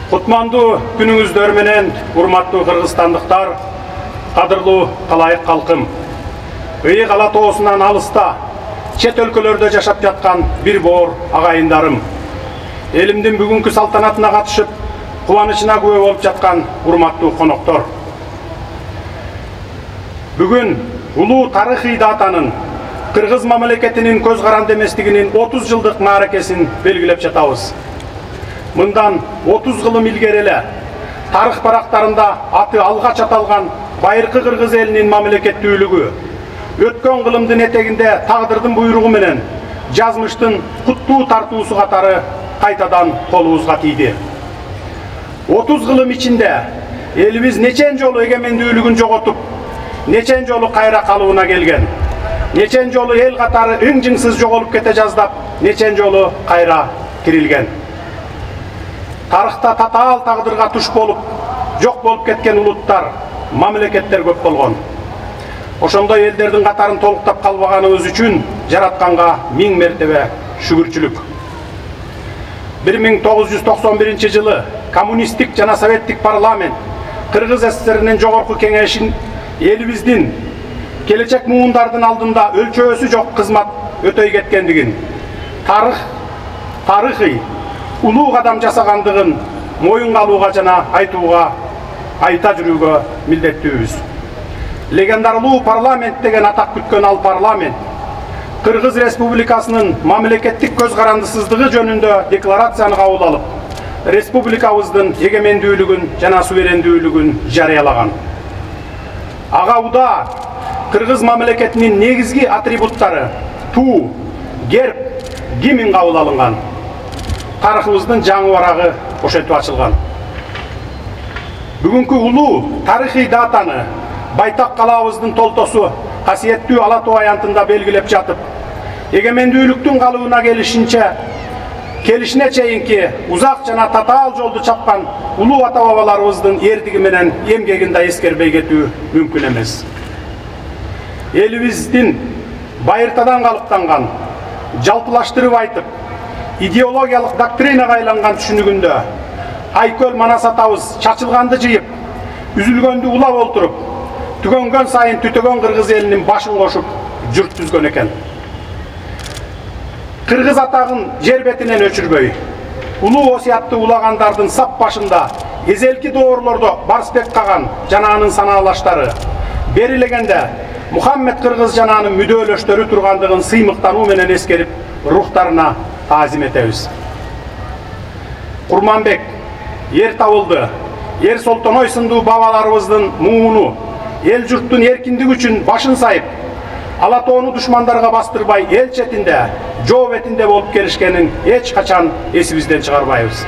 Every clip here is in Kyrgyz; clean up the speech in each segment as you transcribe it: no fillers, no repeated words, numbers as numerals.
Кутмандуу күнүңүздөр менен урматтуу кыргызстандыктар, кадырлуу талайык калкым. Ыйык ала тоосунан алыста, чет өлкөлөрдө жашап жаткан бир боор агайындарым. Элимдин бүгүнкү салтанатына катышып, кубанычына күбө болуп жаткан урматтуу коноктор. Бүгүн улуу тарыхый датанын, кыргыз мамлекетинин көз каранды эместигинин 30 жылдык мааракесин белгилеп жатабыз. Мындан 30 кылым илгери эле тарых барактарында аты алгач аталган байыркы кыргыз элинин мамлекеттүүлүгү өткөн кылымдын этегинде тагдырдын буйругу менен жазмыштын куттуу тартуусу катары кайтадан колубузга тийди. 30 кылым ичинде элибиз нечен жолу эгемендүүлүгүн жоготуп, нечен жолу кайра калыбына келген, нечен жолу эл катары ың-жыңсыз жоголуп кете жаздап, нечен жолу кайра тирилген. Тарыхта татаал тагдырга туш болуп, жок болуп кеткен улуттар, мамлекеттер көп болгон. Ошондой элдердин катарын толуктап калбаганыбыз үчүн жаратканга 1000 мертебе шүгүрчүлүк. 1991 жылы коммунисттик жана советтик парламент Кыргыз СССРинин жогорку кеңешин элибиздин келечек муундардын алдында өлчөөсү жок кызмат өтөй кеткендигин, тарыхый улуу кадам жасагандыгын моюнга алууга жана айта жүрүүгө милдеттүүбүз. Легендарлуу парламент деген атак күткөн ал парламент Кыргыз Республикасынын мамлекеттик көз карандысыздыгы жөнүндө декларацияны кабыл алып, республикабыздын эгемендүүлүгүн жана суверендүүлүгүн жарыялаган. Ага уда Кыргыз мамлекетинин негизги атрибуттары туу, герб, гимн кабыл алынган. Тарыхыбыздын жаңы барагы ошентип ачылган. Бүгүнкү улуу тарыхый датаны байтак калабыздын толтосу касиеттүү Ала Тоо аянтында белгилеп жатып, эгемендүүлүктүн калыбына келишине чейинки узак жана татаал жолду чапкан улуу ата бабаларыбыздын эрдиги менен эмгегин да эскербей кетүү мүмкүн эмес. Элибиздин байыртадан калыптанган, жалпылаштырып айтып, идеологиялык доктринага айланган түшүнүгүндө айкөл манас атабыз чачылганды жыйып, үзүлгөндү улап олтуруп, түгөнгөн сайын түтөгөн кыргыз элинин башын кошуп журт түзгөн экен. Кыргыз атагын жер бетинен өчүрбөй, улуу осуятты улагандардын сап башында эзелки доорлордо Барсбек Каган жана анын санаалаштары, берилегенде Мухаммед Кыргыз жана анын мүдөөлөштөрү тургандыгын сыймыктануу менен эскерип, рухтарына таазим этебиз. Курманбек, Ер Табылды, Ер Солтоной сындуу бабаларыбыздын мууну, эл журттун эркиндиги үчүн башын сайып, Ала Тоону душмандарга бастырбай эл четинде, жоо бетинде болуп келишкенин эч качан эсибизден чыгарбайбыз.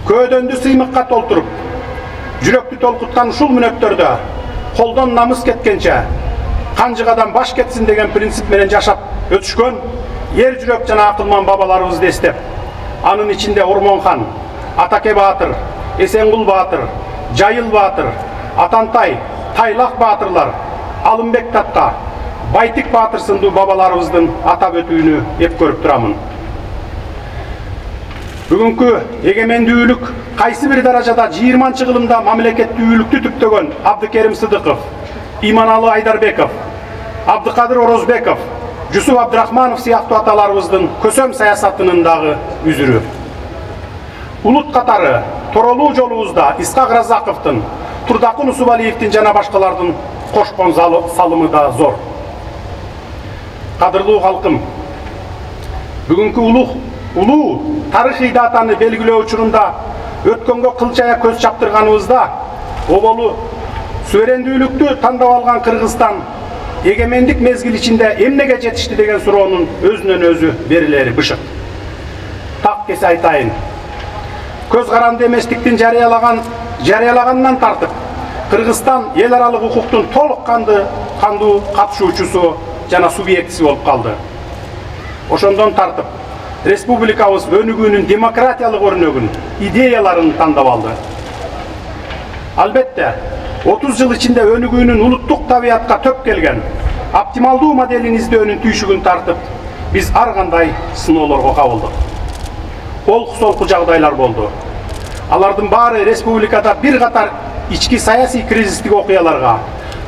Көөдөндү сыймыкка толтуруп, жүрөктү толкуткан ушул мүнөттөрдө колдон намыс кеткенче, канжыгадан баш кетсин деген принцип менен жашап өтүшкөн ер жүрөк жана акылман бабаларыбызды эстеп, анын ичинде Ормонхан, Атаке Баатыр, Эсенгул Баатыр, Жайыл Баатыр, Атантай, Тайлак баатырлар, Алымбек Татка, Байтик Баатыр сындуу бабаларыбыздын атап өтүүнү эп көрүп турамын. Бүгүнкү эгемендүүлүк кайсы бир даражада 20-кылымда мамлекеттүүлүктү түптөгөн Абдыкерим Сыдыков, Иманалы Айдарбеков, Абдыкадыр Орозбеков, Жусуп Абдрахманов сыяктуу аталарыбыздын көсөм саясатынын дагы үзүрү. Улут катары Торолуу жолубузда Исхак Разаковдун, Турдакын Усубалиевдин жана башкалардын кошкон салымы да зор. Кадырлуу калкым, бүгүнкү улуу тарыхый датаны белгилөө учурунда өткөнгө кылчая көз чаптырганыбызда, оболу суверендүүлүктү тандап алган Кыргызстан эгемендик мезгил ичинде эмнеге жетишти деген суроонун өзүнөн өзү берилери бышык. Так кесе айтайын. Көз каранды эместиктин жарыялаганынан тартып, Кыргызстан эл аралык укуктун толук кандуу катышуучусу жана субъектиси болуп калды. Ошондон тартып, республикабыз өнүгүүнүн демократиялык өрнөгүн, идеяларын тандап алды. Албетте, 30 жыл ичинде өнүгүүнүн улуттук табиятка төп келген, оптималдуу моделин издөөнүн түйшүгүн тартып, биз ар кандай сыноолорго кабылдык. олку-солку жагдайлар болду. Алардын баары республикада бир катар ички саясий кризистик окуяларга,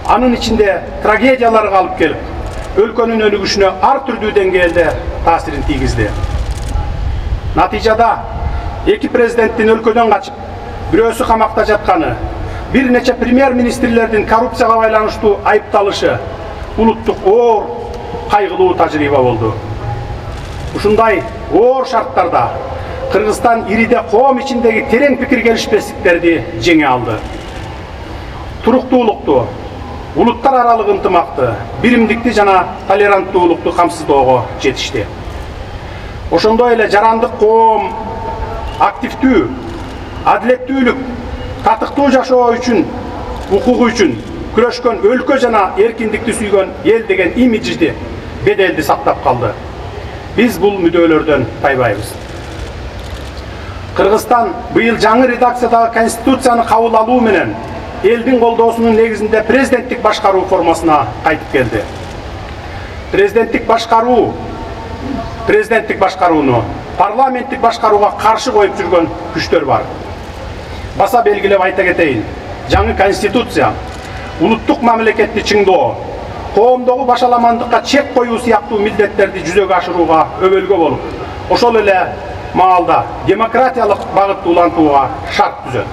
анын ичинде трагедияларга алып келип, өлкөнүн өнүгүшүнө ар түрдүү деңгээлде таасирин тийгизди. Натыйжада эки президенттин өлкөдөн качып, бирөөсү камакта жатканы, бир нече премьер-министрлердин коррупцияга байланыштуу айыпталышы улуттук оор кайгылуу тажрыйба болду. Ушундай оор шарттарда Кыргызстан ириде коом ичиндеги терең пикир келишпестиктерди жеңе алды. Туруктуулукту, улуттар аралык ынтымакты, биримдикти жана толеранттуулукту камсыздоого жетишти. Ошондой эле жарандык коом активдүү, адилеттүүлүк, татыктуу жашоо үчүн, укугу үчүн күрөшкөн өлкө жана эркиндикти сүйгөн эл деген имиджди, беделди сактап калды. Биз бул мүдөлөрдөн тайбайбыз. Кыргызстан быйыл жаңы редакциядагы конституцияны кабыл алуу менен элдин колдоосунун негизинде президенттик башкаруу формасына кайтып келди. Президенттик башкарууну парламенттик башкарууга каршы коюп жүргөн күчтөр бар. Баса белгилеп айта кетейин, жаңы конституция улуттук мамлекетти чыңдоо, коомдогу башаламандыкка чек коюу сыяктуу милдеттерди жүзөгө ашырууга өбөлгө болуп, ошол эле маалда демократиялык багытты улантууга шарт түзөт.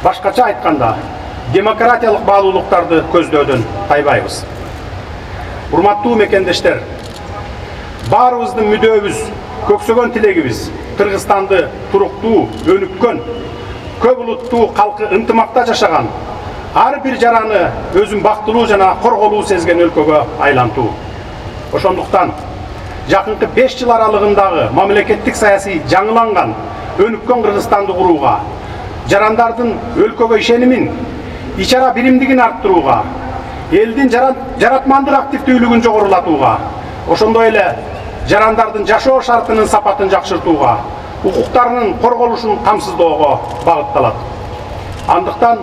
Башкача айтканда, демократиялык баалуулуктарды көздөөдөн тайбайбыз. Урматтуу мекендештер, баарыбыздын мүдөөбүз, көксөгөн тилегибиз Кыргызстанды туруктуу, өнүккөн, көп улуттуу калкы ынтымакта жашаган, ар бир жараны өзүн бактылуу жана корголуу сезген өлкөгө айлантуу. Ошондуктан жакынкы 5 жыл аралыгындагы мамлекеттик саясий жаңыланган, өнүккөн Кыргызстанды курууга, жарандардын өлкөгө ишенимин, ичара биримдигин арттырууга, элдин жаратмандык активдүүлүгүн жогорулатууга, ошондой эле жарандардын жашоо шартынын сапатын жакшыртууга, укуктарынын корголушун камсыздоого багытталат. Андыктан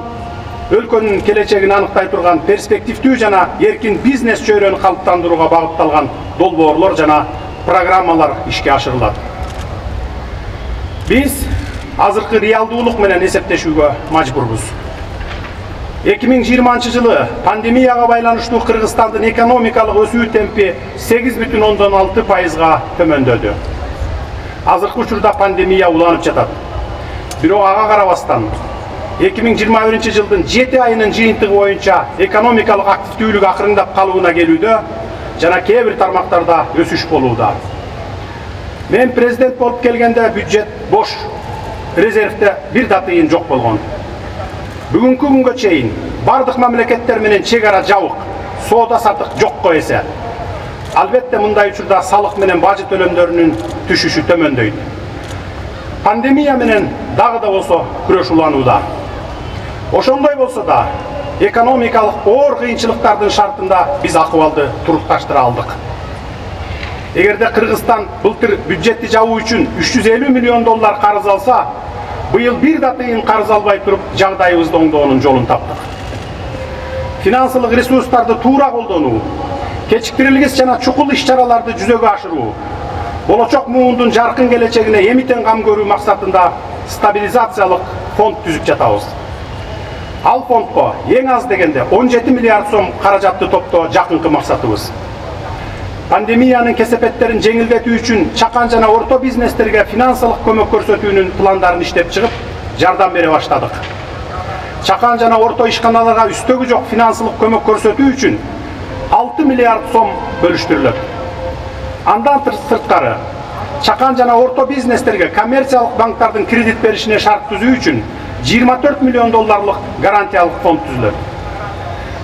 өлкөнүн келечегин аныктай турган перспективдүү жана эркин бизнес чөйрөнү калыптандырууга багытталган долбоорлор жана программалар ишке ашырылат. Биз азыркы реалдуулук менен эсептешүүгө мажбурбуз. 2020 жылы пандемияга байланыштуу Кыргызстандын экономикалык өсүү темпи 8,6%га төмөндөдү. Азыркы учурда пандемия уланып жатат. Бирок ага карабастан 2021 жылдын 7 айынын жыйынтыгы боюнча экономикалык активдүүлүк акырындап калууна келүүдө жана кээ бир тармактарда өсүш болууда. Мен президент болуп келгенде бюджет бош, резервде бир да тыйын жок болгон. Бүгүнкү күнгө чейин бардык мамлекеттер менен чек ара жабык, соода сатык жокко эсе. Албетте мындай учурда салык менен бажы төлөмдөрүнүн түшүшү төмөндөйт. Пандемия менен дагы да болсо күрөш уланууда. Ошондой болсо да экономикалык оор кыйынчылыктардын шартында биз акыбалды турукташтыра алдык. Эгерде Кыргызстан былтыр бюджетти жабуу үчүн 350 миллион доллар карыз алса, быйыл бир да тыйын карыз албай туруп жагдайыбызды оңдоонун жолун таптык. Финансылык ресурстарды туура колдонуу, кечиктирилгис жана чукул иш-чараларды жүзөгө ашыруу, болочок муундун жаркын келечегине эмитен кам көрүү максатында стабилизациялык фонд түзүп жатабыз. Ал фондко эң аз дегенде 17 миллиард сом каражатты топтоо жакынкы максатыбыз. Пандемиянын кесепеттерин жеңилдетүү үчүн чакан жана орто бизнестерге финансылык көмөк көрсөтүүнүн пландарын иштеп чыгып, жардам бере баштадык. Чакан жана орто ишканаларга үстөгү жок финансылык көмөк көрсөтүү үчүн 6 миллиард сом бөлүштүрүлөт. Андан сырткары, чакан жана орто бизнестерге коммерциялык банктардын кредит беришине шарт түзүү үчүн 24 миллион долларлык гарантиялык фонд түзүлөт.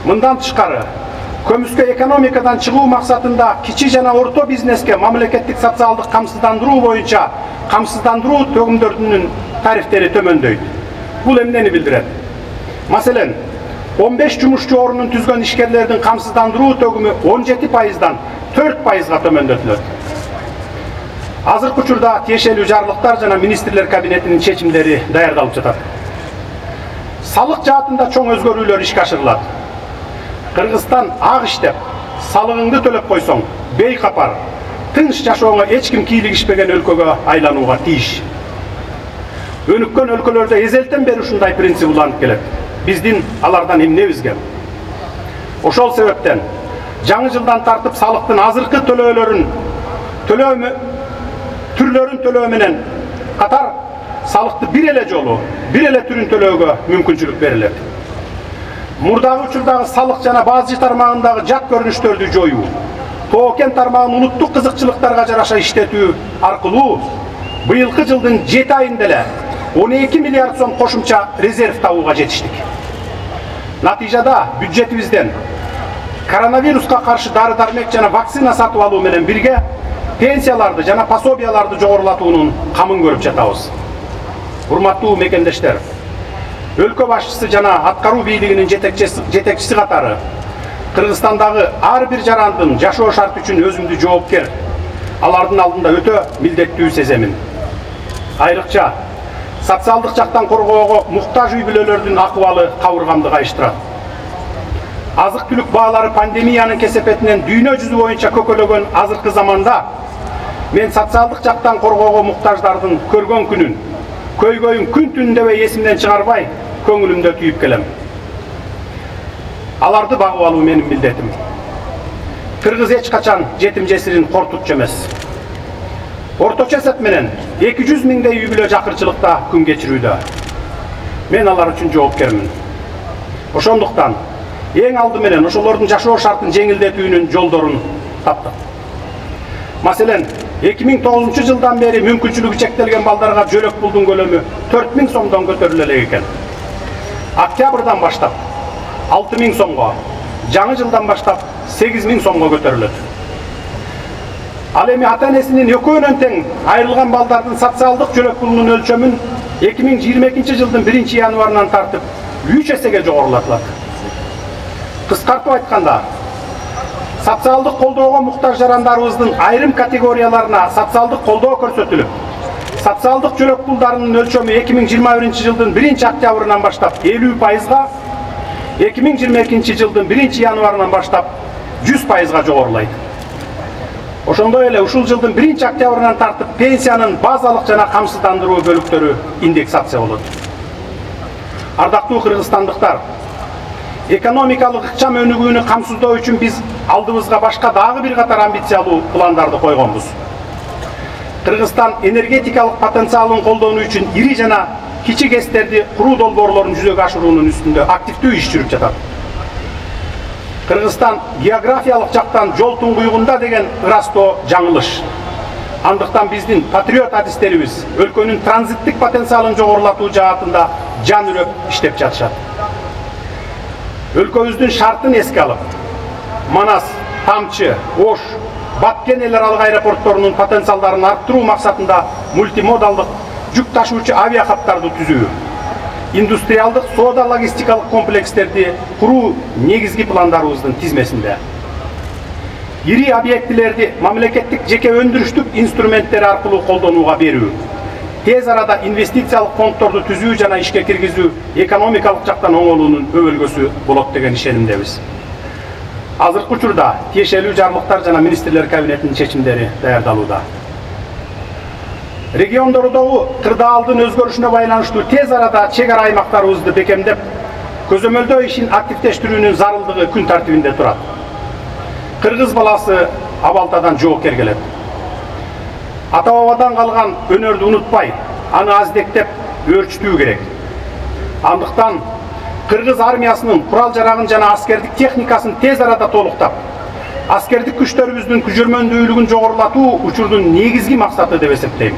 Мындан тышкары, көмүскө экономикадан чыгуу максатында кичи жана орто бизнеске мамлекеттик социалдык камсыздандыруу боюнча камсыздандыруу төгүмдөрүнүн тарифтери төмөндөйт. Бул эмнени билдирет? Маселен, 15 жумушчу орнун түзгөн ишкерлердин камсыздандыруу төгүмү 17%дан 4%га төмөндөтүлөт. Азыркы учурда тиешелүү жарлыктар жана министрлер кабинетинин чечимдери даярдалып жатат. Салык жаатында чоң өзгөрүүлөр ишке ашырылат. Кыргызстан ак иштеп, салыгыңды төлөп койсоң, бейкапар, тынч жашооңо эч ким кийлигишпеген өлкөгө айланууга тийиш. Өнүккөн өлкөлөрдө эзелтен бери ушундай принцип уланып келет. Биздин алардан эмнебизге? Ошол себептен жаңы жылдан тартып салыктын азыркы түрлөрүн төлөө менен катар салыкты бир эле жолу, бир эле түрүн төлөөгө мүмкүнчүлүк берилет. Мурдагы учурдагы салык жана базы тармагындагы жат көрүнүштөрдү жоюу, тоо-кен тармагын улуттук кызыкчылыктарга жараша иштетүү аркылуу быйылкы жылдын 7 айында эле 12 миллиард сом кошумча резерв табууга жетиштик. Натыйжада бюджетибизден коронавируска каршы дары-дармек жана вакцина сатып алуу менен бирге пенсияларды жана пособияларды жогорулатуунун камын көрүп жатабыз. Урматтуу мекендештер, өлкө башчысы жана аткаруу бийлигинин жетекчиси катары Кыргызстандагы ар бир жарандын жашоо шарты үчүн өзүмдү жоопкер, алардын алдында өтө милдеттүү сеземин. Айрыкча социалдык жактан коргоого муктаж үй бүлөлөрдүн акыбалы кабыргамды кайыштырат. Азык-түлүк баалары пандемиянын кесепетинен дүйнө жүзү боюнча көкөлөгөн азыркы заманда мен социалдык жактан коргоого муктаждардын көргөн күнүн, көйгөйүн күн түн дебей эсимден чыгарбай, көңүлүмдө түйүп келем. Аларды багып алуу менин милдетим. Кыргыз эч качан жетим жесирин кортутчу эмес. Орточо эсеп менен 200 миңдей үй бүлө жакырчылыкта күн кечирүүдө. Мен алар үчүн жоопкермин. Ошондуктан эң алды менен ошолордун жашоо шартын жеңилдетүүнүн жолдорун таптык. Маселен, 2009 жылдан бери мүмкүнчүлүгү чектелген балдарга жөлөк пулдун көлөмү 4000 сомдон көтөрүлө элек экен. Октябрдан баштап 6000 сомго, жаңы жылдан баштап 8000 сомго көтөрүлөт. Ал эми ата-энесинин экөөнөн тең айрылган балдардын социалдык жөлөк пулунун өлчөмүн 2022 жылдын 1 январынан тартып 3 эсеге жогорулатылат. Кыскартып айтканда, социалдык колдоого муктаж жарандарыбыздын айрым категорияларына социалдык колдоо көрсөтүлүп, социалдык жөлөк пулдарынын өлчөмү 2021 жылдын 1 октябрынан баштап 50%, 2022 жылдын 1 январынан баштап 100%га жогорулайт. Ошондой эле ушул жылдын 1 октябрынан тартып пенсиянын базалык жана камсыздандыруу бөлүктөрү индексация болот. Ардактуу кыргызстандыктар, экономикалык ыкчам өнүгүүнү камсыздоо үчүн биз алдыбызга башка дагы бир катар амбициялуу пландарды койгонбуз. Кыргызстан энергетикалык потенциалын колдонуу үчүн ири жана кичи КЭСтерди куруу долбоорлорун жүзөгө ашыруунун үстүндө активдүү иш жүрүп жатат. Кыргызстан географиялык жактан жол туңгуюгунда деген ырастоо жаңылыш. Андыктан биздин патриот адистерибиз өлкөнүн транзиттик потенциалын жогорулатуу жаатында жан үрөп иштеп жатышат. Өлкөбүздүн шартын эске алып, Манас, Тамчы, Ош, Баткен эл аралык аэропортторунун потенциалдарын арттыруу максатында мультимодалдык жүк ташуучу авиахаттарды түзүү, индустриалдык соода логистикалык комплекстерди куруу негизги пландарыбыздын тизмесинде. Ири объектилерди мамлекеттик жеке өндүрүштүк инструменттери аркылуу колдонууга берүү, тез арада инвестициялык фонддорду түзүү жана ишке киргизүү экономикалык жактан оңолуунун өбөлгөсү болот деген ишенимдебиз. Азыркы учурда тиешелүү жарлыктар жана министрлер кабинетинин чечимдери даярдалууда. Региондордогу кырдаалдын өзгөрүшүнө байланыштуу тез арада чек ара аймактарыбызды бекемдеп, көзөмөлдөө ишин активдештирүүнүн зарылдыгы күн тартибинде турат. Кыргыз баласы абалтадан жоокер келет. Ата-бабадан калган өнөрдү унутпай, аны аздектеп өөрчүтүү керек. Андыктан Кыргыз армиясынын курал-жарагын жана аскердик техникасын тез арада толуктап, аскердик күчтөрүбүздүн күжөрмөндүүлүгүн жогорулатуу учурдун негизги максаты деп эсептейм.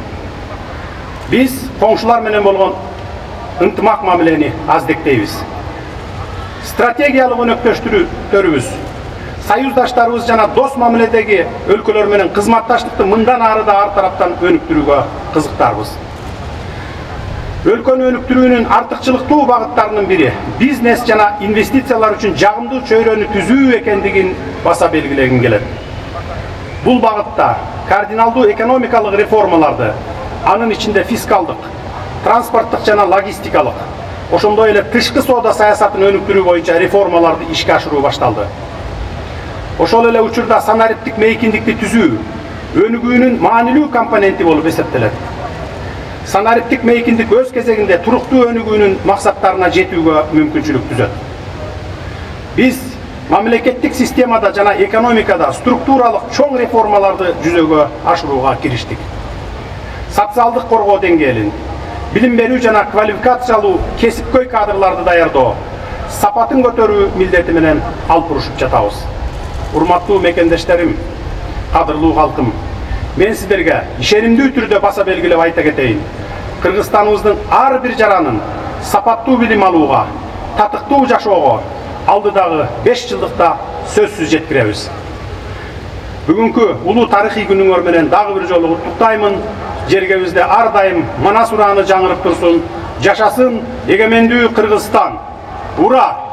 Биз коңшулар менен болгон ынтымак мамилени аздектейбиз. Стратегиялык өнөктөштүрүүбүз, союздаштарыбыз жана дос мамиледеги өлкөлөр менен кызматташтыкты мындан ары да ар тараптан өнүктүрүүгө кызыктарбыз. Өлкөнү өнүктүрүүнүн артыкчылыктуу багыттарынын бири бизнес жана инвестициялар үчүн жагымдуу чөйрөнү түзүү экендигин баса белгилегим келет. Бул багытта кардиналдуу экономикалык реформаларды, анын ичинде фискалдык, транспорттук жана логистикалык, ошондой эле тышкы соода саясатын өнүктүрүү боюнча реформаларды ишке ашыруу башталды. Ошол эле учурда санариптик мейкиндикти түзүү өнүгүүнүн маанилүү компоненти болуп эсептелет. санариптик мейкиндик өз кезегинде туруктуу өнүгүүнүн максаттарына жетүүгө мүмкүнчүлүк түзөт. Биз мамлекеттик системада жана экономикада структуралык чоң реформаларды жүзөгө ашырууга кириштик. Социалдык коргоо деңгээлин, билим берүү жана квалификациялуу кесипкөй кадрларды даярдоо, сапатын көтөрүү милдети менен алып урушуп жатабыз. Урматтуу мекендештерим, кадырлуу калкым, мен сиздерге ишенимдүү түрдө баса белгилеп айта кетейин. Кыргызстаныбыздын ар бир жаранын сапаттуу билим алууга, татыктуу жашоого алдыдагы 5 жылдыкта сөзсүз жеткиребиз. Бүгүнкү улуу тарыхый күнүңөр менен дагы бир жолу куттуктаймын. Жергебизде ар дайым манас урааны жаңырып турсун. Жашасын эгемендүү Кыргызстан. Ура!